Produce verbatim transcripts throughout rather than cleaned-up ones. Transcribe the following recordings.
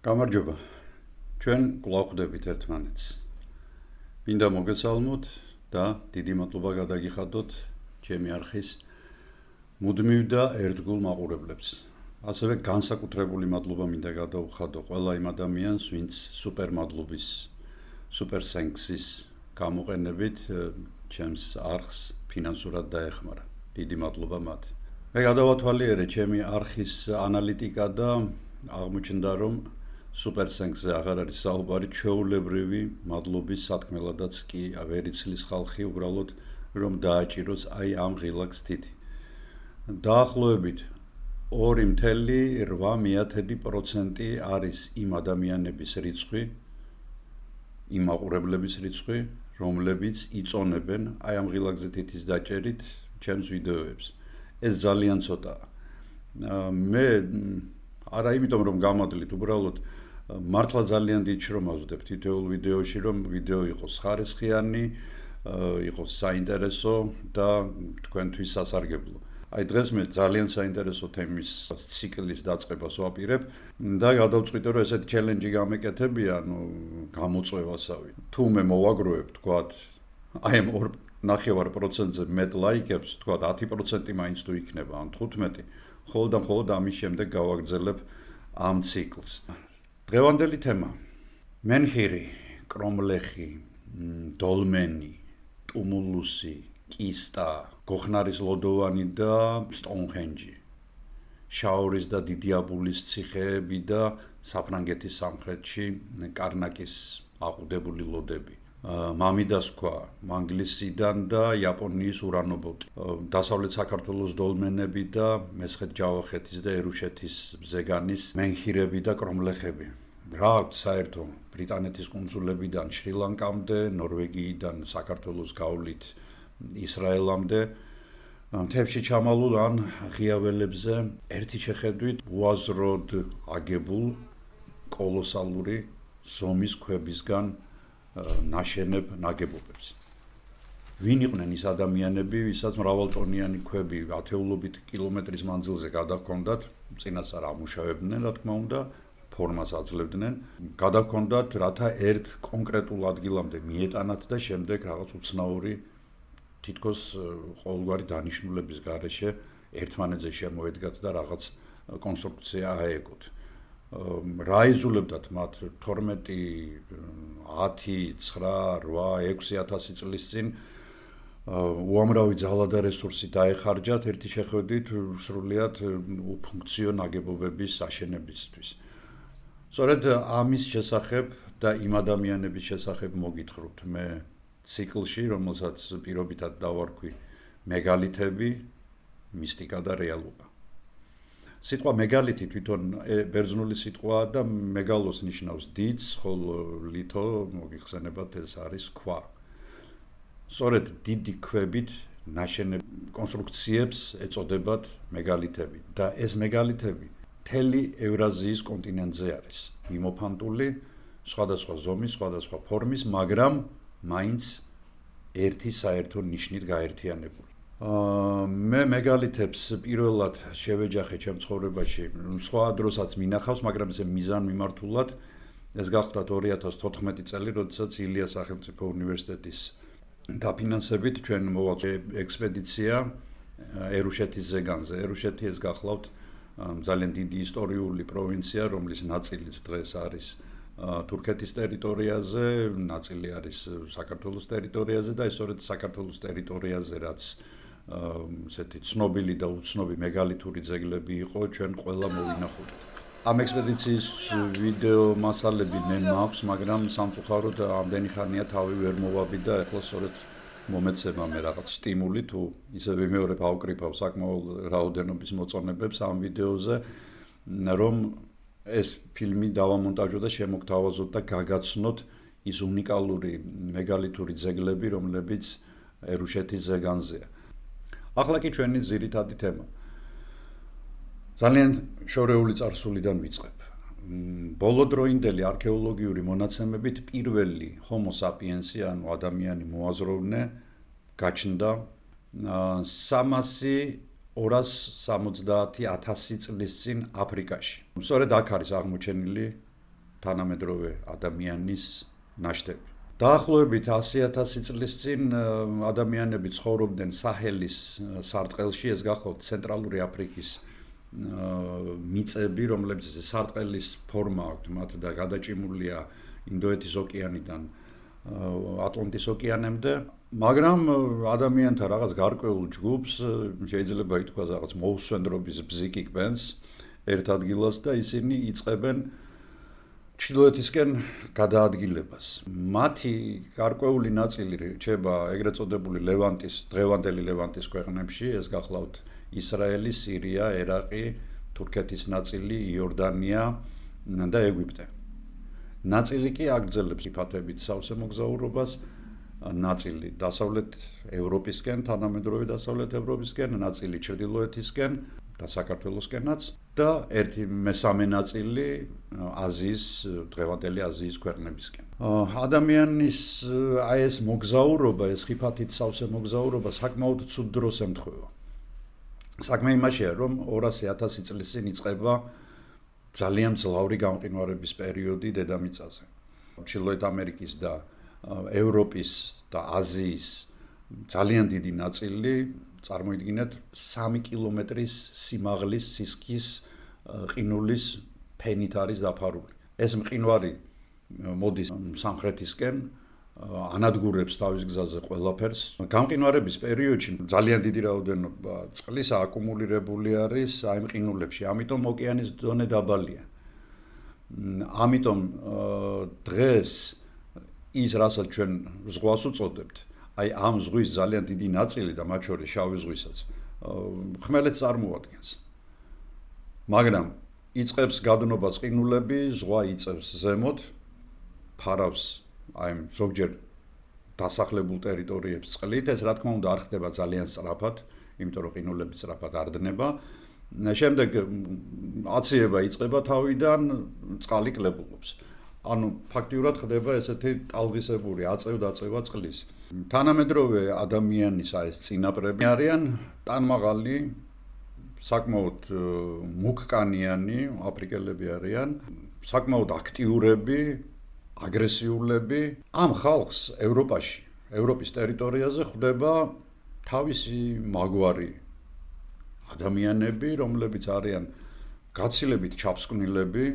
გამარჯობა. ჩვენ კვლავ ხვდებით ერთმანეთს. მინდა მოგესალმოთ და დიდი მადლობა გადაგიხადოთ ჩემი არხის მუდმივ და ერთგულ მაყურებლებს. ასევე განსაკუთრებული მადლობა მინდა გადავხადო ყველა იმ ადამიანს, ვინც სუპერ მადლობის, სუპერ სენქსის გამოყენებით ჩემს არხს ფინანსურად დაეხმარა. დიდი მადლობა მათ. მე გადავათვალიერე ჩემი არხის ანალიტიკა და აღმოჩნდა, რომ სუპერ სენქსზე აღარ არის საუბარი, ჩვეულებრივი მადლობის სათქმელადაც კი ვერ იცლის ხალხი უბრალოდ რომ დააჭიროს აი ამ ღილაკს თითი. დაახლოებით ორი წუთი რვა პროცენტი არის იმ ადამიანების რიცხვი, იმ მაყურებლების რიცხვი, რომლებიც იწონებენ აი ამ ღილაკზე თითის დაჭერით ჩემს ვიდეოებს. ეს ძალიან ცოტაა. მე არა იმიტომ რომ გამადლით, უბრალოდ მართლა ძალიან დიდ შრომას ვდებ თითოეულ ვიდეოში, რომ ვიდეო იყოს ხარისხიანი, იყოს საინტერესო და თქვენთვის სასარგებლო. აი დღეს მე ძალიან საინტერესო თემის ციკლის დაწყებას ვაპირებ და გადავწყვიტე, რომ ესეთი ჩელენჯი გამეკეთებია, ну, გამოწვევასავი. თუ მე მოვაგროვებ, თქვათ, აი ამ ორ ნახევარ პროცენტზე მეტ ლაიქებს, თქვათ ათი პროცენტი მაინც თუ იქნება, ან თხუთმეტი, ხოლო და მხოლოდ ამის შემდეგ გავაგრძელებ ამ ციკლს. დღევანდელი თემა: მენჰირი, კრომლეხი, დოლმენი, ტუმულუსი, კისტა, გოხნარის ლოდოვანი და სტოუნჰენჯი, შაორის და დიდიაბულის ციხეები და საფრანგეთის სამხრეთში კარნაკის აყუდებული ლოდები. მამიდას ქვა მანგლისიდან და იაპონიის ურანობოტი, დასავლეთ საქართველოს დოლმენები და მესხეთ-ჯავახეთის და ერუშეთის ზეგანის მენჰირები და კრომლეხები. რა აქვს საერთო ბრიტანეთის კუნძულებიდან შრი-ლანკამდე, ნორვეგიიდან საქართველოს გავლით ისრაელამდე, მთებში ჩამალულ ან ღია ველებზე ერთი შეხედვით უაზროდ აგებულ კოლოსალური ზომის ქვებისგან ნაშენებ ნაგებობებს. ვინ იყვნენ ის ადამიანები, ვისაც მრავალტონიანი ქვები ათეულობით კილომეტრის მანძილზე გადაჰქონდათ, წინასწარ ამუშავებდნენ, რა თქმა უნდა, ფორმას აძლევდნენ, გადაჰქონდათ, რათა ერთ კონკრეტულ ადგილამდე მიეტანათ და შემდეგ რაღაც უცნაური თითქოს ყოველგვარი დანიშნულების გარეშე ერთმანეთზე შემოედგათ და რაღაც კონსტრუქცია აეგოთ. რა იზულებდათ მათ თორმეტი, ათი, ცხრა, რვა, ექვსი ათასი წლის წინ უამრავი ძალა და რესურსი დაეხარჯათ ერთი შეხედვით სრულიად უფუნქციო ნაგებობების აშენებისთვის. სწორედ ამის შესახებ და იმ ადამიანების შესახებ მოგითხრობთ მე ციკლში, რომელსაც პირობითად დავარქვი მეგალითები, მისტიკა და რეალობა. სიტყვა მეგალითი თვითონ ბერძნული სიტყვაა და მეგალოს ნიშნავს დიდს, ხოლო ლითო მოგიხსენებათ ეს არის ქვა. სწორედ დიდი ქვებით ნაშენებ კონსტრუქციებს ეწოდებათ მეგალითები და ეს მეგალითები მთელი ევრაზიის კონტინენტზე არის მიმოფანტული, სხვადასხვა ზომის, სხვადასხვა ფორმის, მაგრამ მაინც ერთი საერთო ნიშნით გაერთიანებული. მე მეგალითებს პირველად შევეჯახე ჩემ ცხოვრებაში, სხვა დროსაც მინახავს, მაგრამ ესე მიზან მიმართულად ეს გახლდათ ორი ათას თოთხმეტი წელი, როდესაც ილიას სახელმწიფო უნივერსიტეტის დაფინანსებით ჩვენ მოვაწვევთ ექსპედიცია ერუშეთის ზეგანზე. ერუშეთი ეს გახლავთ ძალიან დიდი ისტორიული პროვინცია, რომლის ნაწილიც დღეს არის თურქეთის ტერიტორიაზე, ნაწილი არის საქართველოს ტერიტორიაზე და სწორედ საქართველოს ტერიტორიაზე, რაც ესეთი ცნობილი და უცნობი მეგალითური ძეგლები იყო, ჩვენ ყველა მოვინახულით. ამ ექსპედიციის ვიდეო მასალები მე მაქვს, მაგრამ სამწუხაროდ ამდენი ხანია თავი ვერ მოვაბი და ახლა სწორედ მომეცემა მე რაღაც სტიმული თუ ისე ვიმეორებ ავკრიფავ საკმაოდ რაოდენობის მოწონებებს ამ ვიდეოზე, რომ ეს ფილმი დავამონტაჟოთ და შემოგთავაზოთ და გაგაცნოთ ის უნიკალური მეგალითური ძეგლები, რომლებიც ერუშეთის ზეგანზეა. ახლა კი ჩვენი ძირითადი თემა. ძალიან შორეული წარსულიდან ვიწყებ. ბოლოდროინდელი არქეოლოგიური მონაცემებით პირველი ჰომო საპიენსი, ანუ ადამიანი მოაზროვნე, გაჩნდა სამასი ორას სამოცდაათი ათასი წლის წინ აფრიკაში. სწორედ აქ არის აღმოჩენილი თანამედროვე ადამიანის ნაშთები. დაახლოებით ასი ათასი წლის წინ ადამიანები ცხოვრობდნენ საჰელის სარტყელში, ეს გახლავთ ცენტრალური აფრიკის მიწები, რომლებიც სარტყელის ფორმა აქვთ მათ და გადაჭიმულია ინდოეთის ოკეანიდან ატლანტის ოკეანემდე, მაგრამ ადამიანთა რაღაც გარკვეულ ჯგუფს შეიძლება ითქვას რაღაც მოუსვენდრობის ბზიკი კვენს ერთ ადგილას და ისინი იწყებენ ჩრდილოეთისკენ გადაადგილებას. მათი გარკვეული ნაწილი რჩება ეგრეთ წოდებული ლევანტის, დღევანდელი ლევანტის ქვეყნებში, ეს გახლავთ ისრაელი, სირია, ერაყი, თურქეთის ნაწილი, იორდანია და ეგვიპტე. ნაწილი კი აგრძელებს ფათებით სავსე მოგზაურობას, ნაწილი დასავლეთ ევროპისკენ, თანამედროვე დასავლეთ ევროპისკენ, ნაწილი ჩრდილოეთისკენ და საქართველოსკენაც და ერთი მესამე ნაწილი აზიის, დღევანდელი აზიის ქვეყნებისკენ. ადამიანის აი ეს მოგზაურობა, ეს ხიფათით სავსე მოგზაურობა საკმაოდ ცუდ დროს ემთხვევა. საქმე იმაშია, რომ ორასი ათასი წლის წინ იწყება ძალიან მძლავრი გამყინვარების პერიოდი დედამიწაზე. ჩრდილოეთ ამერიკის და ევროპის და აზიის ძალიან დიდი ნაწილი წარმოიდგინეთ სამი კილომეტრის სიმაღლის სისქის ყინულის ფენით არის დაფარული. ეს მყინვარი მოდის სამხრეთისკენ, ანადგურებს თავის გზაზე ყველაფერს. გამყინვარების პერიოდში ძალიან დიდი რაოდენობა წყლის აკუმულირებული არის აი მყინულებში, ამიტომ ოკეანის დონე დაბალია. ამიტომ დღეს ის რასაც ჩვენ ზღვას უწოდებთ, აი ამ ზღვის ძალიან დიდი ნაწილი და მათ შორის შავი ზღვისაც ხმელეთს წარმოადგენს. მაგრამ იწყებს გადნობას ყინულები, ზღვა იწევს ზემოთ, ფარავს აი ზოგჯერ დასახლებულ ტერიტორიებს წყლით, ეს რა თქმა უნდა არ ხდება ძალიან სწრაფად, იმიტომ რომ ყინულები სწრაფად არ დნება. შემდეგ აციება იწყება თავიდან, წყალი კლებულობს. ანუ ფაქტიურად ხდება ესეთი ტალღისებური აწევ-დაწევა წყლის. თანამედროვე ადამიანის აი ეს წინაპრები არიან ტანმაღალი, საკმაოდ მუქკანიანი აფრიკელები არიან, საკმაოდ აქტიურები, აგრესიულები. ამ ხალხს ევროპაში, ევროპის ტერიტორიაზე ხვდება თავისი მაგვარი ადამიანები, რომლებიც არიან გაცილებით ჩაფსკვნილები,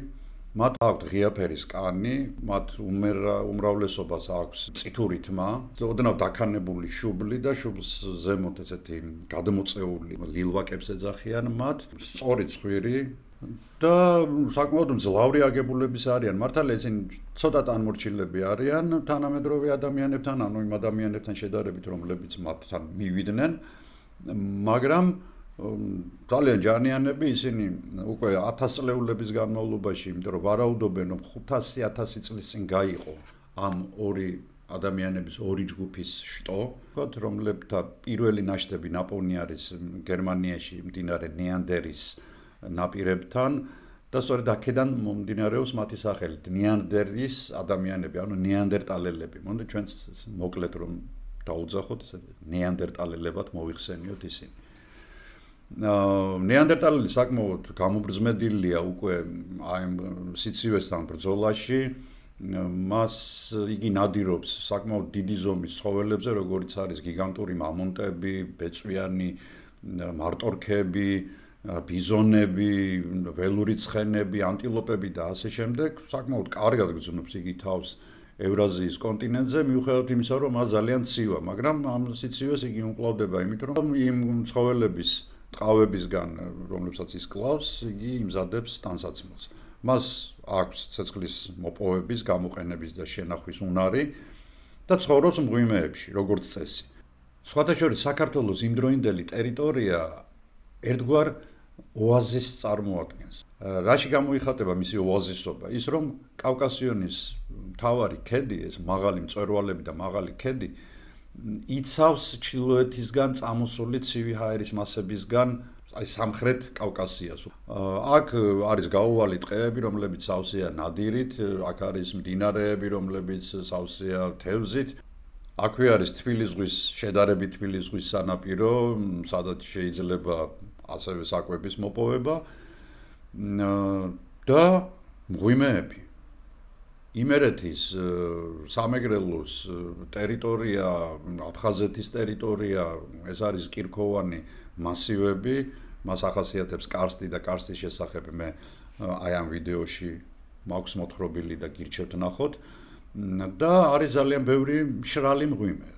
მათ აქვთ ღია ფერის კანი, მათ უმრავლესობას აქვს წითური თმა, ოდნავ დაქანებული შუბლი და შუბლს ზემოთ ესეთი გადმოწეული ლილვაკებს ეძახიან მათ, სწორი ცხვირი და საკმაოდ მძლავრი აგებულების არიან. მართალია ისინი ცოტა ტანმორჩილები არიან თანამედროვე ადამიანებთან, ანუ იმ ადამიანებთან შედარებით, რომლებიც მათთან მივიდნენ, მაგრამ ძალიან ჯანიანები ისინი უკვე ათასწლეულების განმავლობაში, იმიტომ რომ ვარაუდობენ, რომ ხუთასი ათასი წლის წინ გაიყო ამ ორი ადამიანების ორი ჯგუფის შტო, რომლებთა პირველი ნაშთები ნაპოვნი არის გერმანიაში მდინარე ნეანდერის ნაპირებთან და სწორედ აქედან მომდინარეობს მათი სახელით ნეანდერის ადამიანები, ანუ ნეანდერტალელები. მონდა ჩვენც მოკლედ რომ დაუძახოთ, ნეანდერტალელებად მოიხსენიოთ ისინი. ნეანდერტალელი საკმაოდ გამობრძმედილია უკვე აი სიცივესთან ბრძოლაში. მას იგი ნადირობს საკმაოდ დიდი ზომის ცხოველებზე, როგორც არის გიგანტური მამონტები, ბეწვიანი მარტორქები, ბიზონები, ველური ცხენები, ანტილოპები და ასე შემდეგ. საკმაოდ კარგად გრძნობს იგი თავს ევრაზიის კონტინენტზე, მიუხედავად იმისა, რომ მას ძალიან ცივა, მაგრამ ამ სიცივეს იგი უმკლავდება, იმიტომ რომ იმ ცხოველების ტყავებისგან, რომლებსაც ის კლავს, იგი იმზადებს ტანსაცმელს. მას აქვს ცეცხლის მოპოვების, გამოყენების და შენახვის უნარი და ცხოვრობს მღვიმეებში, როგორც წესი. სხვათა შორის საქართველოს იმდროინდელი ტერიტორია ერთგვარ ოაზისს წარმოადგენს. რაში გამოიხატება მისი ოაზისობა? ის რომ კავკასიონის მთავარი ქედი, ეს მაღალი მწვერვალები და მაღალი ქედი იცავს ჩრდილოეთისგან წამოსული ცივი ჰაერის მასებისგან აი სამხრეთ კავკასიას. აქ არის გაუვალი ტყეები, რომლებიც სავსეა ნადირით, აქ არის მდინარეები, რომლებიც სავსეა თევზით. აქვე არის თბილის ზღვის, შედარებით თბილის ზღვის სანაპირო, სადაც შეიძლება ასევე საკვების მოპოვება და მღვიმეები. იმერეთის სამეგრელოს ტერიტორია, აფხაზეთის ტერიტორია, ეს არის კირქოვანი მასივები, მას ახასიათებს კარსტი და კარსტის შესახებ მე აი ამ ვიდეოში მაქვს მოთხრობილი და გირჩევთ ნახოთ და არის ძალიან ბევრი მშრალი მღვიმე,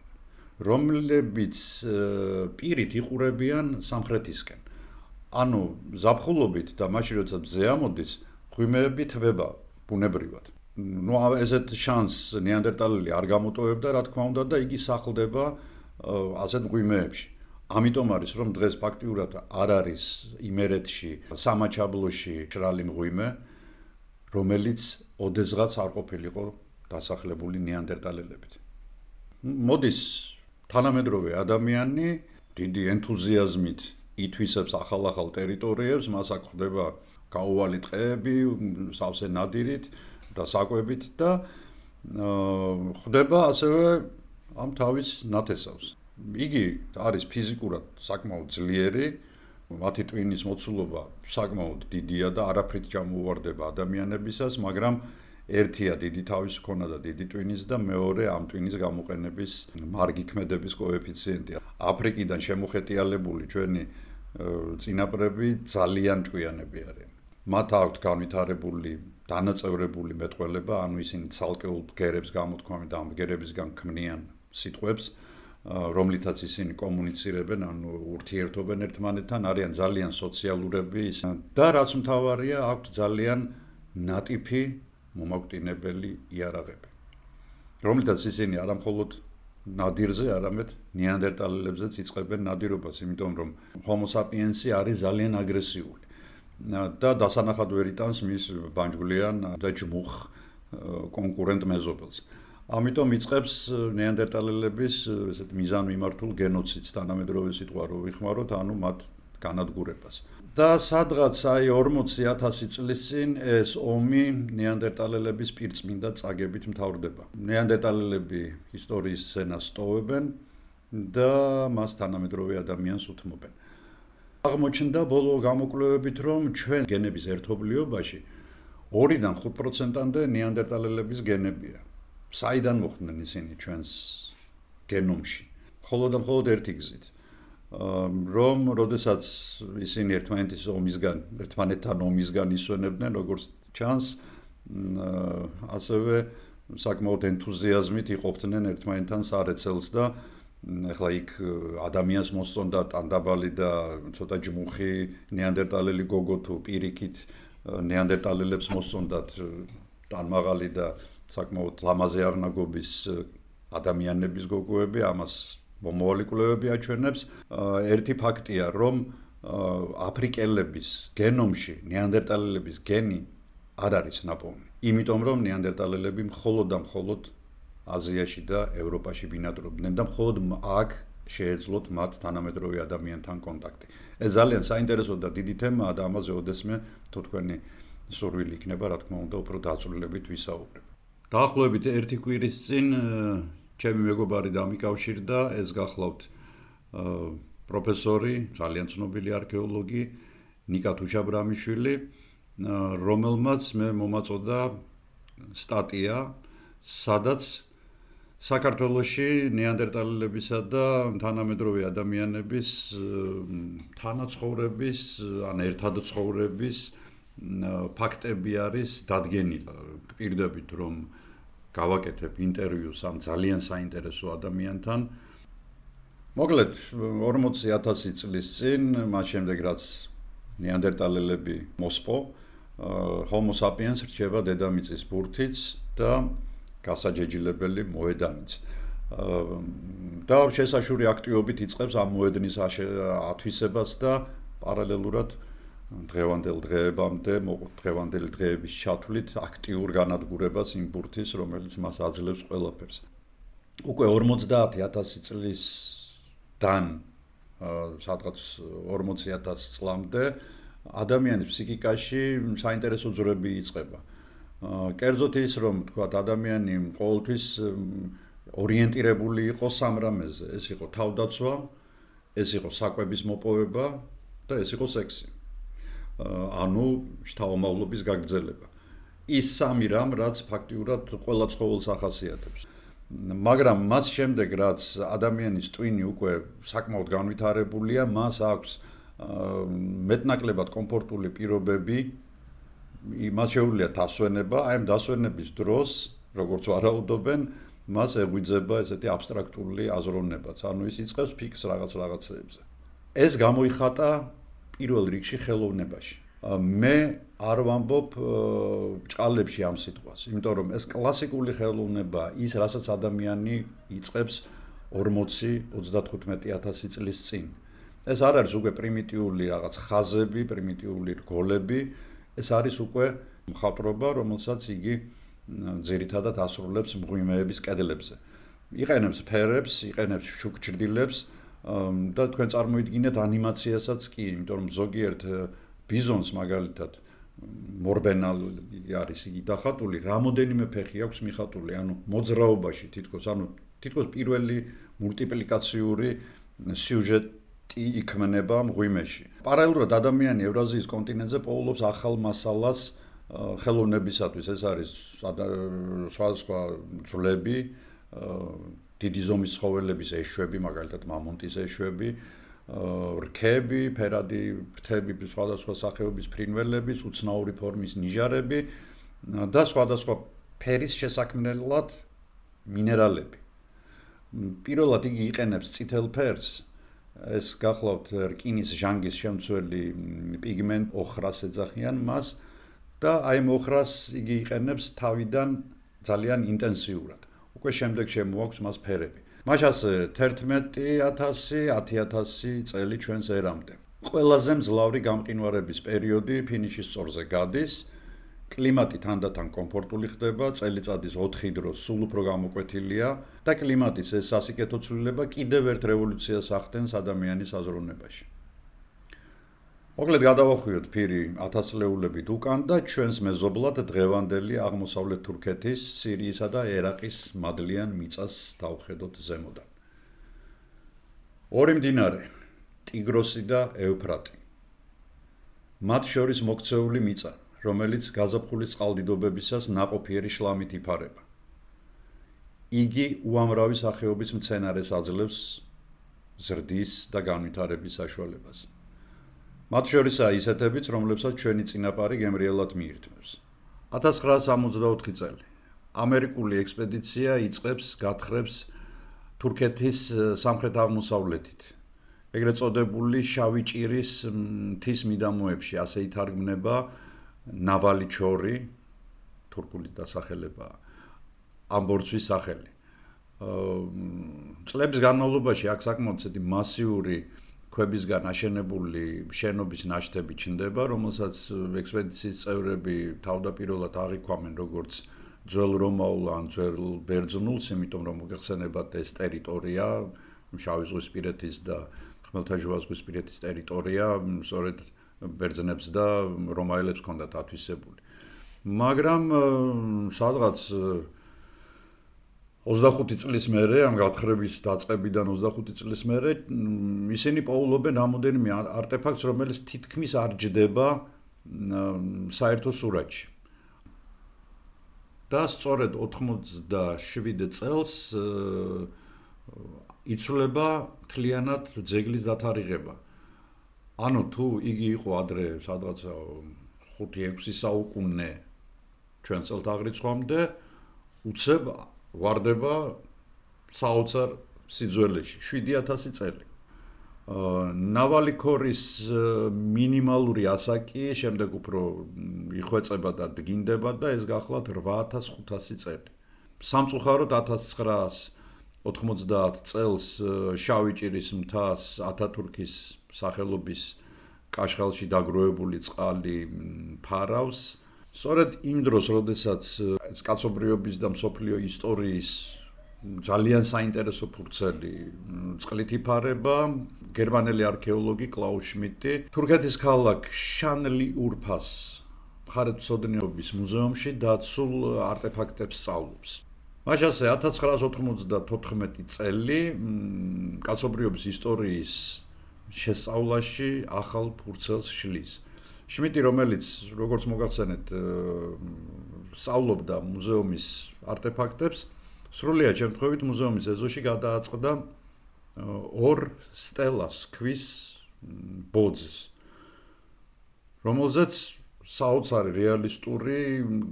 რომლებიც პირით იყურებიან სამხრეთისკენ. ანუ ზაფხულობით და მაშინ როცა მზე ამოდის, მღვიმეები თბება ბუნებრივად. ნუ ესეთ შანსს ნეანდერტალელი არ გამოტოვებდა, რა თქმა უნდა, და იგი სახლდება ასეთ მღვიმეებში. ამიტომ არის, რომ დღეს ფაქტიურად არ არის იმერეთში, სამაჩაბლოში მშრალი მღვიმე, რომელიც ოდესღაც არ ყოფილიყო დასახლებული ნეანდერტალელებით. მოდის თანამედროვე ადამიანი დიდი ენთუზიაზმით ითვისებს ახალ-ახალ ტერიტორიებს, მას აქ ხდება გაუვალი ტყეები, სავსე ნადირით და საკვებით და ხდება ასევე ამ თავის ნათესავს. იგი არის ფიზიკურად საკმაოდ ძლიერი, მათი ტვინის მოცულობა საკმაოდ დიდია და არაფრით ჩამოუვარდება ადამიანებისას, მაგრამ ერთია დიდი თავის მქონა და დიდი ტვინის და მეორე ამ ტვინის გამოყენების მარგი ქმედების კოეფიციენტი. აფრიკიდან შემოხეტიალებული ჩვენი წინაპრები ძალიან ჭკვიანები არიან. მათ აქვთ განვითარებული დანაწევრებული მეტყველება, ანუ ისინი ცალკეულ ბგერებს გამოთქვამენ და ამ ბგერებისგან ქმნიან სიტყვებს, რომლითაც ისინი კომუნიცირებენ, ანუ ურთიერთობენ ერთმანეთთან, არიან ძალიან სოციალურები და რაც მთავარია, აქვთ ძალიან ნატიფი მომაკვდინებელი იარაღები, რომლითაც ისინი არა მხოლოდ ნადირზე, არამედ ნეანდერტალელებზეც იწყებენ ნადირობას, იმიტომ რომ ჰომო საპიენსი არის ძალიან აგრესიული და დასანახად ვერ იტანს მის ბანჯგვლიან და ჯმუხ კონკურენტ მეზობელს. ამიტომ იწყებს ნეანდერტალელების ესეთ მიზანმიმართულ გენოციდს, თანამედროვე სიტყვა რო ვიხმაროთ, ანუ მათ განადგურებას. და სადღაც აი ორმოცი ათასი წლის წინ ეს ომი ნეანდერტალელების პირწმინდა წაგებით მთავრდება. ნეანდერტალელები ისტორიის სცენას ტოვებენ და მას თანამედროვე ადამიანს უთმობენ. აღმოჩნდა ბოლო გამოკვლევებით, რომ ჩვენ გენების ერთობლიობაში ორიდან ხუთ პროცენტამდე ნეანდერტალელების გენებია. საიდან მოხვდნენ ისინი ჩვენს გენომში? მხოლოდ და მხოლოდ ერთი გზით. რომ როდესაც ისინი ერთმანეთის ომისგან, ერთმანეთთან ომისგან ისვენებდნენ, როგორც ჩანს, ასევე საკმაოდ ენთუზიაზმით იყოფდნენ ერთმანეთთან სარეცელს და ეხლა იქ ადამიანს მოსწონდა ტანდაბალი და ცოტა ჯმუხი ნეანდერტალელი გოგო თუ პირიქით ნეანდერტალელებს მოსწონდათ ტანმაღალი და საკმაოდ ლამაზი აღნაგობის ადამიანების გოგოები, ამას მომავალი კვლევები აჩვენებს. ერთი ფაქტია, რომ აფრიკელების გენომში ნეანდერტალელების გენი არ არის ნაპოვნი. იმიტომ რომ ნეანდერტალელები მხოლოდ და მხოლოდ აზიაში და ევროპაში ბინადრობდნენ და მხოლოდ აქ შეეძლოთ მათ თანამედროვე ადამიანთან კონტაქტი. ეს ძალიან საინტერესო და დიდი თემაა და ამაზე ოდესმე თუ თქვენი სურვილი იქნება, რა თქმა უნდა, უფრო დაწვრილებით ვისაუბრებ. დაახლოებით ერთი კვირის წინ ჩემი მეგობარი დამიკავშირდა, ეს გახლავთ პროფესორი, ძალიან ცნობილი არქეოლოგი ნიკა თუშაბრამიშვილი, რომელმაც მე მომაწოდა სტატია, სადაც საქართველოში ნეანდერტალელებისა და თანამედროვე ადამიანების თანაცხოვრების, ან ერთად ცხოვრების ფაქტები არის დადგენილი. გპირდებით, რომ გავაკეთებ ინტერვიუს ამ ძალიან საინტერესო ადამიანთან. მოკლედ, ორმოცი ათასი წლის წინ, მას შემდეგ რაც ნეანდერტალელები მოსპო, ჰომო საპიენს რჩება დედამიწის ბურთიც და გასაჯეჯილებელი მოედანიც. და შესაშური აქტივობით იწყებს ამ მოედნის ათვისებას და პარალელურად დღევანდელ დღეებამდე, დღევანდელი დღეების ჩათვლით აქტიურ განადგურებას იმ ბურთის, რომელიც მას აძლევს ყველაფერს. უკვე ორმოცდაათი ათასი წლისდან სადღაც ორმოცი ათასი წლამდე ადამიანის ფსიქიკაში საინტერესო ძვრები იწყება. კერძოდ ის, რომ თქვათ ადამიანი ყოველთვის ორიენტირებული იყო სამ რამეზე, ეს იყო თავდაცვა, ეს იყო საკვების მოპოვება და ეს იყო სექსი. ანუ შთაომავლობის გაგრძელება. ის სამი რამ, რაც ფაქტიურად ყველა ცხოველს ახასიათებს. მაგრამ მას შემდეგ, რაც ადამიანის ტვინი უკვე საკმაოდ განვითარებულია, მას აქვს მეტნაკლებად კომფორტული პირობები, მას შეუძლია დასვენება, აი ამ დასვენების დროს, როგორც ვარაუდობენ, მას ეღვიძება ესეთი აბსტრაქტული აზროვნებაც, ანუ ის იწყებს ფიქრს რაღაც რაღაცეებზე. ეს გამოიხატა პირველ რიგში ხელოვნებაში. მე არ ვამბობ ჭყალებში ამ სიტყვას, იმიტომ რომ ეს კლასიკური ხელოვნება, ის რასაც ადამიანი იწყებს ორმოცი ოცდათხუთმეტი ათასი წლის წინ. ეს არ არის უკვე პრიმიტიული რაღაც ხაზები, პრიმიტიული რგოლები, ეს არის უკვე მხატვრობა, რომელსაც იგი ძირითადად ასრულებს მღვიმეების კედლებზე. იყენებს ფერებს, იყენებს შუქჭრდილებს და თქვენ წარმოიდგინეთ ანიმაციასაც კი, იმიტომ რომ ზოგიერთ ბიზონს მაგალითად მორბენალი არის იგი დახატული, რამოდენიმე ფეხი აქვს მიხატული, ანუ მოძრაობაში თითქოს, ანუ თითქოს პირველი მულტიპლიკაციური სიუჟეტი იქმნება მღვიმეში. პარალელურად ადამიანი ევრაზიის კონტინენტზე პოულობს ახალ მასალას ხელოვნებისათვის, ეს არის სხვადასხვა ძვლები, დიდი ზომის ცხოველების ეშვები, მაგალითად მამონტის ეშვები, რქები, ფერადი ფრთები, სხვადასხვა სახეობის ფრინველების, უცნაური ფორმის ნიჟარები და სხვადასხვა ფერის შესაქმნელად მინერალები. პირველად იგი იყენებს წითელ ფერს, ეს გახლავთ რკინის ჟანგის შემცველი პიგმენტ ოხრას ეძახიან მას და აი ამ ოხრას იგი იყენებს თავიდან ძალიან ინტენსიურად. უკვე შემდეგ შემოაქვს მას ფერები. მაშას თერთმეტი ათასი, ათი ათასი წელი ჩვენს ერამდე. ყველაზე მძლავრი გამყინვარების პერიოდი ფინიშის სწორზე გადის, კლიმატი თანდათან კომფორტული ხდება, წელიწადის ოთხი დრო სულ უფრო გამოკვეთილია და კლიმატის ეს სასიკეთო ცვლილება კიდევ ერთ რევოლუციას ახდენს ადამიანის აზროვნებაში. მოკლედ გადავახვიოთ ფირი ათასწლეულებით უკან და ჩვენს მეზობლად დღევანდელი აღმოსავლეთ თურქეთის, სირიისა და ერაყის მადლიან მიწას დავხედოთ ზემოდან. ორი მდინარე, ტიგროსი და ევფრატი. მათ შორის მოქცეული მიწა, რომელიც გაზაფხულის წყალდიდობებისას ნაყოფიერი შლამით იფარება. იგი უამრავი სახეობის მცენარეს აძლევს ზრდის და განვითარების საშუალებას. მათ შორისაა ისეთებიც, რომლებსაც ჩვენი წინაპარი გემრიელად მიირთმევს. ათას ცხრაას სამოცდაოთხი წელი. ამერიკული ექსპედიცია იწყებს გათხრებს თურქეთის სამხრეთ აღმოსავლეთით. ეგრეთ წოდებული შავი ჭირის მთის მიდამოებში, ასე ითარგმნება ნავალი ჩორი, თურქული დასახელებაა, ამ ბორცვის სახელი. წლების განმავლობაში აქ საკმაოდ ისეთი მასიური ქვებისგან აშენებული შენობის ნაშთები ჩნდება, რომელსაც ექსპედიციის წევრები თავდაპირველად აღიქვამენ როგორც ძველ რომაულ ან ძველ ბერძნულს, იმიტომ რომ მოგეხსენებათ ეს ტერიტორია, შავი ზღვისპირეთის და ხმელთაშუაზღვისპირეთის ტერიტორია, სწორედ ბერძნებს და რომაელებს ჰქონდათ ათვისებული. მაგრამ სადღაც ოცდახუთი წლის მერე, ამ გათხრების დაწყებიდან ოცდახუთი წლის მერე, ისინი პოულობენ რამოდენიმე არტეფაქტს, რომელიც თითქმის არ ჯდება საერთო სურათში. და სწორედ ოთხმოცდაშვიდ წელს იცვლება მთლიანად ძეგლის დათარიღება. ანუ თუ იგი იყო ადრე სადღაც ხუთი ექვსი საუკუნე ჩვენ წელთაღრიცხვამდე, უცებ ვარდება საოცარ სიძველეში, შვიდი ათასი წელი. ნავალი ქორის მინიმალური ასაკი შემდეგ უფრო იხვეწება და დგინდება და ეს გახლავთ რვა ათას ხუთასი წელი. სამწუხაროდ ათას ცხრაას ოთხმოცდაათ წელს შავი ჭირის მთას ათათურქის სახელობის კაშხალში დაგროვებული წყალი ფარავს. სწორედ იმ დროს, როდესაც კაცობრიობის და მსოფლიო ისტორიის ძალიან საინტერესო ფურცელი წყლით იფარება, გერმანელი არქეოლოგი კლაუს შმიდტი თურქეთის ქალაქ შანლიურფას მხარეთმცოდნეობის მუზეუმში დაცულ არტეფაქტებს სწავლობს. მაშასე ათას ცხრაას ოთხმოცდათოთხმეტი წელი კაცობრიობის ისტორიის შესწავლაში ახალ ფურცელს შლის. შმიდტი, რომელიც როგორც მოგახსენეთ სწავლობდა მუზეუმის არტეფაქტებს, სრულიად შემთხვევით მუზეუმის ეზოში გადააწყდა ორ სტელას ქვის ბოძს, რომელზეც საოცარი რეალისტური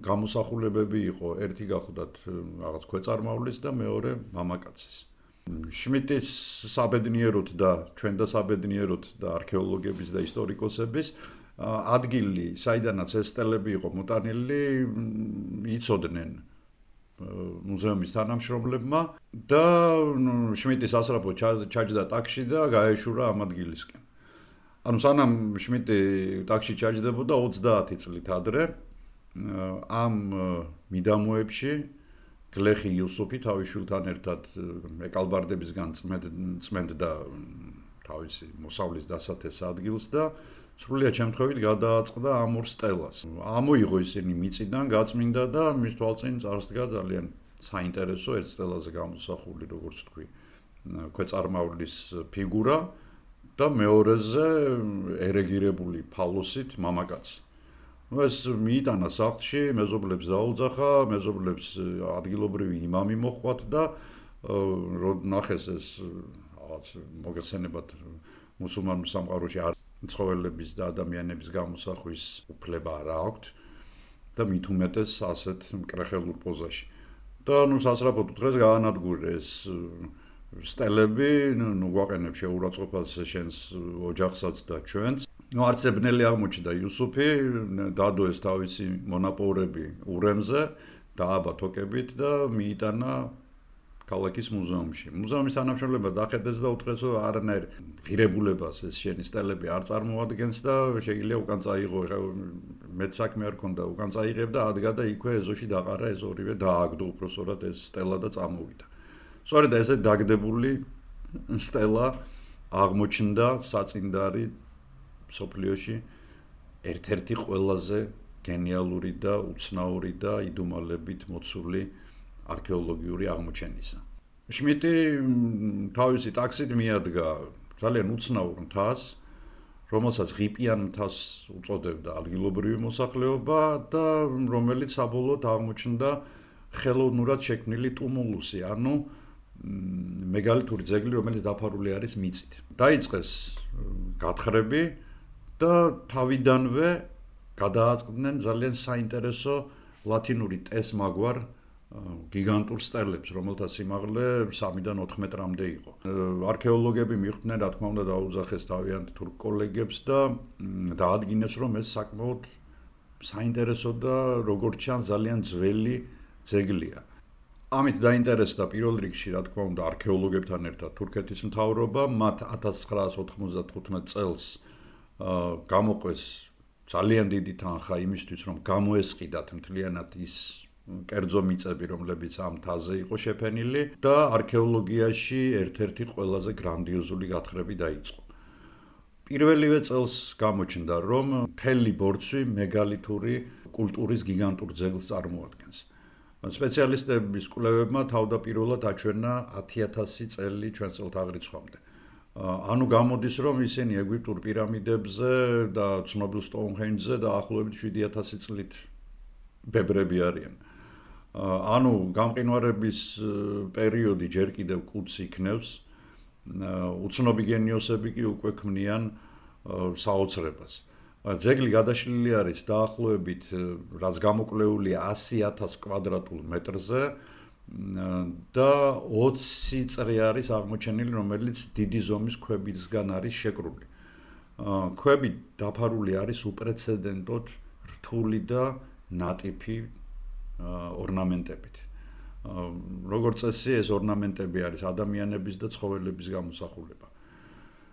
გამოსახულებები იყო. ერთი გახლდათ რაღაც ქვეწარმავლის და მეორე მამაკაცის. შმიტის საბედნიეროდ და ჩვენ და საბედნიეროდ და არქეოლოგების და ისტორიკოსების ადგილი, საიდანაც ეს სტელები იყო მოტანილი, იცოდნენ მუზეუმის თანამშრომლებმა და შმიტის ასრაფო ჩაჯდა ტაქსში და გაეშურა ამ ადგილისკენ. ანუ სანამ შმიტი ტაქსში ჩაჯდებოდა ოცდაათი წლით ადრე ამ მიდამოებში გლეხი იუსუფი თავის შვილთან ერთად ეკალბარდებისგან წმენდა თავისი მოსავლის დასათეს ადგილს და სრულიად შემთხვევით გადააწყდა ამ ორ სტელას. ამოიღო ისინი მიწიდან, გაწმინდა და მის თვალწინ წარსდგა ძალიან საინტერესო ერთ სტელაზე გამოსახული, როგორც თქვი, ქვეწარმავლის ფიგურა და მეორეზე ერეგირებული ფალოსით მამაკაცი. ნუ ეს მიიტანა სახლში, მეზობლებს დაუძახა, მეზობლებს ადგილობრივი იმამი მოჰყვათ და ნახეს ეს რაღაც მოგეხსენებათ მუსულმანურ სამყაროში ცხოველების და ადამიანების გამოსახვის უფლება არ აქვთ და მით უმეტეს ასეთ მკრეხელურ პოზაში. და ნუ სასწრაფოდ უთხრეს გაანადგურეს სტელები, ნუ გვაყენებ შეურაცხყოფას შენს ოჯახსაც და ჩვენს. ნუ არც ბნელი აღმოჩნდა იუსუფი, დადოეს თავისი მონაპოვრები ურემზე, დააბა თოკებით და მიიტანა ქალაქის მუზეუმში. მუზეუმის თანამშრომლებმა დახედეს და უთხრეს, რომ არანაირ ღირებულებას ეს შენი სტელები არ წარმოადგენს და შეიძლება უკან წაიღო, მეც საქმე არ ქონდა, უკან წაიღებ და ადგა და იქვე ეზოში დაყარა ეს ორივე დააგდო უпроსორად ეს სტელა და წამოვიდა. სწორედ ესე დაგდებული სტელა აღმოჩნდა საწინდარი სოფლიოში ერთ-ერთი ყველაზე გენიალური და უცნაური და იდუმალებით მოცული არქეოლოგიური აღმოჩენისა. შმიტი თავისი ტაქსით მიადგა ძალიან უცნაურ მთას, რომელსაც ღიპიან მთას უწოდებდა ადგილობრივი მოსახლეობა და რომელიც საბოლოოდ აღმოჩნდა ხელოვნურად შექმნილი ტუმულუსი, ანუ მეგალითური ძეგლი, რომელიც დაფარული არის მიწით. დაიწყეს გათხრები და თავიდანვე გადააწყდნენ ძალიან საინტერესო ლათინური ტესმაგვარ გიგანტურ სტელებს, რომელთა სიმაღლე სამიდან ოთხ მეტრამდე იყო. არქეოლოგები მიხვდნენ, რა თქმა უნდა, დაუძახეს თავიანთ თურქ კოლეგებს და დაადგინეს, რომ ეს საკმაოდ საინტერესო და როგორც ჩანს ძალიან ძველი ძეგლია. ამით დაინტერესდა პირველ რიგში, რა თქმა უნდა, არქეოლოგებთან ერთად თურქეთის მთავრობა, მათ ათას ცხრაას ოთხმოცდათხუთმეტ წელს გამოყვეს ძალიან დიდი თანხა იმისთვის, რომ გამოესყიდათ მთლიანად ის კერძო მიწები, რომლებიც ამ მთაზე იყო შეფენილი და არქეოლოგიაში ერთ-ერთი ყველაზე გრანდიოზული გათხრები დაიწყო. პირველივე წელს გამოჩნდა, რომ მთელი ბორცვი მეგალითური კულტურის გიგანტურ ძეგლს წარმოადგენს. სპეციალისტების კვლევებმა თავდაპირველად აჩვენა ათი ათასი წელი ჩვენ წელთაღრიცხვამდე. ანუ გამოდის, რომ ისინი ეგვიპტურ პირამიდებზე და ცნობილ სტოუნჰენჯზე დაახლოებით შვიდი ათასი წლით ბებრები არიან. ანუ გამყინვარების პერიოდი ჯერ კიდევ კუდს იქნევს, უცნობი გენიოსები კი უკვე ქმნიან საოცრებას. ძეგლი გადაშლილი არის დაახლოებით, რაც გამოკვლეულია ასი ათას კვადრატულ მეტრზე და ოცი წრი არის აღმოჩენილი, რომელიც დიდი ზომის ქვებისგან არის შეკრული. ქვები დაფარული არის უპრეცედენტოდ რთული და ნატიფი ორნამენტებით. როგორც წესი, ეს ორნამენტები არის ადამიანების და ცხოველების გამოსახულება.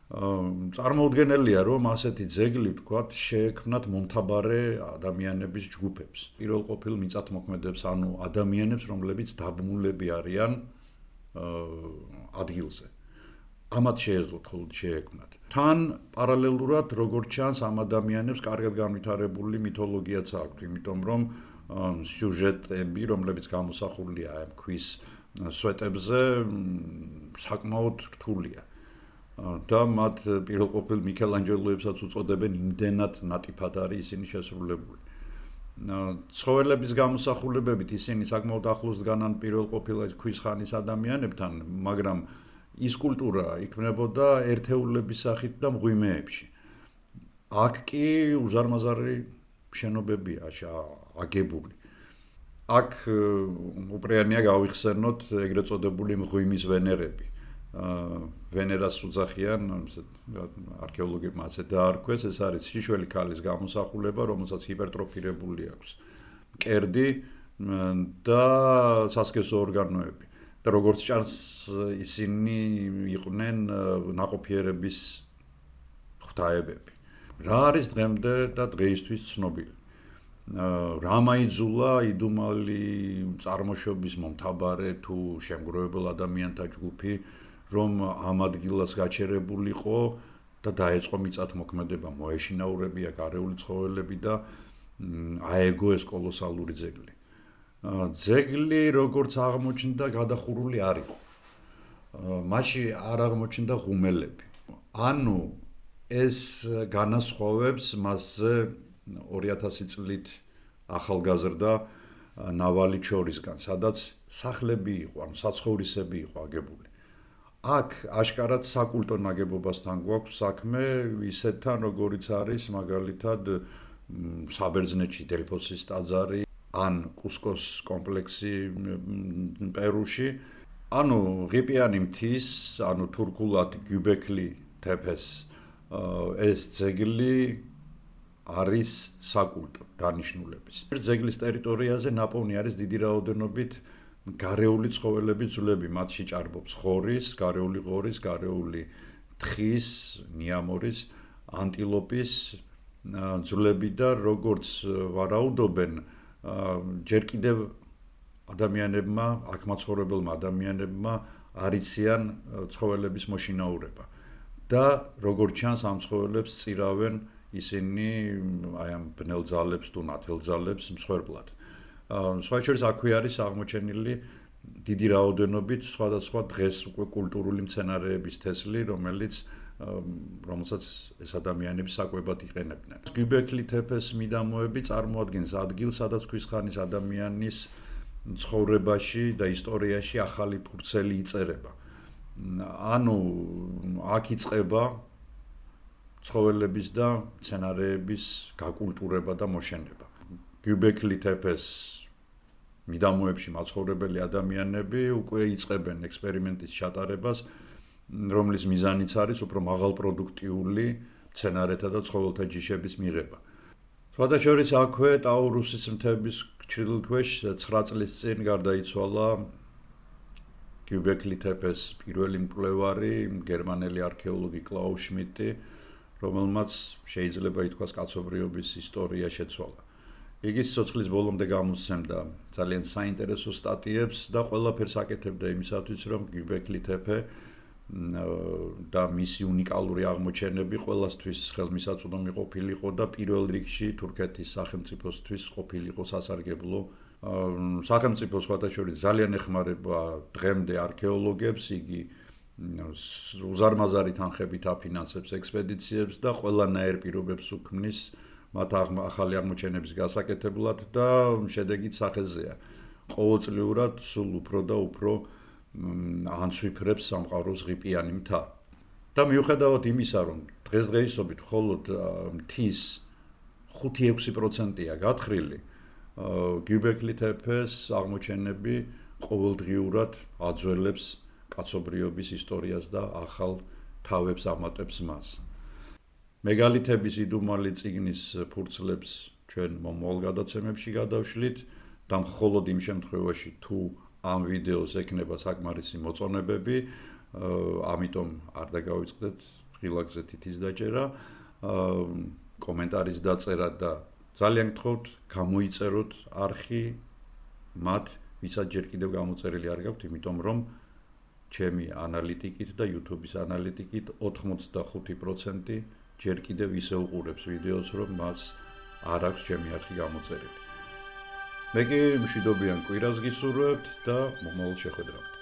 წარმოუდგენელია, რომ ასეთი ძეგლი, ვთქვათ, შეექმნათ მომთაბარე ადამიანების ჯგუფებს. პირველ ყოფილ მიწათმოქმედებს, ანუ ადამიანებს, რომლებიც დაბმულები არიან ადგილზე. ამათ შეეძლოთ ხოლმე შეექმნათ. თან პარალელურად, როგორც ჩანს, ამ ადამიანებს კარგად განვითარებული მითოლოგიაც აქვთ, იმიტომ რომ სიუჟეტები, რომლებიც გამოსახულია ამ ქვის სვეტებზე, საკმაოდ რთულია. და მათ პირველყოფილ მიქელანჯელოებსაც უწოდებენ, იმდენად ნატიფად არის ისინი შესრულებული. ცხოველების გამოსახულებებით ისინი საკმაოდ ახლოს დგანან პირველ ყოფილა ქვის ხანის ადამიანებთან, მაგრამ ის კულტურა იქმნებოდა ერთეულების სახით და მღვიმეებში. აქ კი უზარმაზარი შენობებია აგებული. აქ უპრეანია გავიხსენოთ ეგრეთ წოდებული მღვიმის ვენერები. ვენერას უძახიან, არქეოლოგებმა ასე დაარქვეს, ეს არის შიშველი ქალის გამოსახულება, რომელსაც ჰიპერტროფირებული აქვს მკერდი და სასქესო ორგანოები. და როგორც ჭარს ისინი იყვნენ ნაყოფიერების ღვთაებები. რა არის დღემდე და დღეისთვის ცნობილი? რა მაიძულა იდუმალი წარმოშობის მომთაბარე თუ შემგროვებელ ადამიანთა ჯგუფი, რომ ამ ადგილას გაჩერებულიყო და დაეწყო მიწათმოქმედება, მოეშინაურებია გარეული ცხოველები და აეგო ეს კოლოსალური ძეგლი. ძეგლი როგორც აღმოჩნდა, გადახურული არ იყო. მასში არ აღმოჩნდა ღუმელები. ანუ ეს განასხვავებს მასზე ორი ათასი წლით ახალგაზრდა ნავალი ჩორისგან, სადაც სახლები იყო, ანუ საცხოვრისები იყო აგებული. აქ აშკარად საკულტო ნაგებობასთან გვაქვს საქმე, ისეთთან როგორიც არის მაგალითად საბერძნეთში დელფოსის ტაძარი ან კუსკოს კომპლექსი პერუში. ანუ ღიპიანი მთის, ანუ თურქულად გუბექლი თეფეს ეს ძეგლი არის საკულტო დანიშნულების. ძეგლის ტერიტორიაზე ნაპოვნი არის დიდი რაოდენობით გარეული ცხოველების ძვლები, მათში ჭარბობს ხორის, გარეული ღორის, გარეული თხის, ნიამორის, ანტილოპის ძვლები და როგორც ვარაუდობენ, ჯერ კიდევ ადამიანებმა, აქ მაცხოვრებელმა ადამიანებმა არიციან ცხოველების მოშინაურება. და როგორც ჩანს, ამ ცხოველებს წირავენ ისინი აი ამ ბნელ ძალებს თუ ნათელ ძალებს მსხვერპლად. სხვა შორის აქვე არის აღმოჩენილი დიდი რაოდენობით სხვადასხვა დღეს უკვე კულტურული მცენარეების თესლი, რომელიც რომელსაც ეს ადამიანები საკვებად იყენებდნენ. გუბექლი თეფეს მიდამოები წარმოადგენს ადგილს, სადაც ქვის ხანის ადამიანის ცხოვრებაში და ისტორიაში ახალი ფურცელი იწერება. ანუ აქ იწყება ცხოველების და მცენარეების გაკულტურება და მოშენება. გუბექლი თეფეს მიდამოებში მაცხოვრებელი ადამიანები უკვე იწყებენ ექსპერიმენტის ჩატარებას, რომლის მიზანიც არის უფრო მაღალპროდუქტიული მცენარეთა და ცხოველთა ჯიშების მიღება. სხვადასხვა აქვე ტაურუსის მთების ჩრდილქვეშ ცხრა წლის წინ გარდაიცვალა გუბექლი თეფეს პირველი მკვლევარი, გერმანელი არქეოლოგი კლაუს შმიდტი, რომელმაც შეიძლება ითქვას კაცობრიობის ისტორია შეცვალა. იგი სიცოცხლის ბოლომდე გამოსცემდა ძალიან საინტერესო სტატიებს და ყველაფერს აკეთებდა იმისათვის, რომ გუბექლი თეფე და მისი უნიკალური აღმოჩენები ყველასთვის ხელმისაწვდომი ყოფილიყო და პირველ რიგში თურქეთის სახელმწიფოსთვის ყოფილიყო სასარგებლო. სახელმწიფო სხვადასხვა ძალიან ეხმარება დღემდე არქეოლოგებს, იგი უზარმაზარი თანხებით აფინანსებს ექსპედიციებს და ყველანაირ პირობებს უქმნის მათ ახალი აღმოჩენების გასაკეთებლად და შედეგიც სახეზეა. ყოველწლიურად სულ უფრო და უფრო ანცვიფრებს სამყაროს ღიპიანი მთა. და მიუხედავად იმისა, რომ დღესდღეობით მხოლოდ მთის ხუთი ექვსი პროცენტია გათხრილი, გუბექლი თეფეს აღმოჩენები ყოველდღიურად აძველებს კაცობრიობის ისტორიას და ახალ თავებს ამატებს მას. მეგალითების იდუმალი წიგნის ფურცლებს ჩვენ მომავალ გადაცემებში გადავშლით და მხოლოდ იმ შემთხვევაში თუ ამ ვიდეოს ექნება საკმარისი მოწონებები, ამიტომ არ დაგავიწყდეთ ღილაკზე თითის დაჭერა, კომენტარის დაწერა და ძალიან გთხოვთ გამოიწეროთ არხი მათ, ვისაც ჯერ კიდევ გამოწერილი არ გაქვთ, იმიტომ რომ ჩემი ანალიტიკით და YouTube-ის ანალიტიკით ოთხმოცდახუთი პროცენტი ჯერ კიდევ ისე უყურებს ვიდეოს, რომ მას არ აქვს ჩემი არხი გამოწერილი. მე კი მშვიდობიან კვირას გისურვებთ და მომავალ შეხვედრამდე.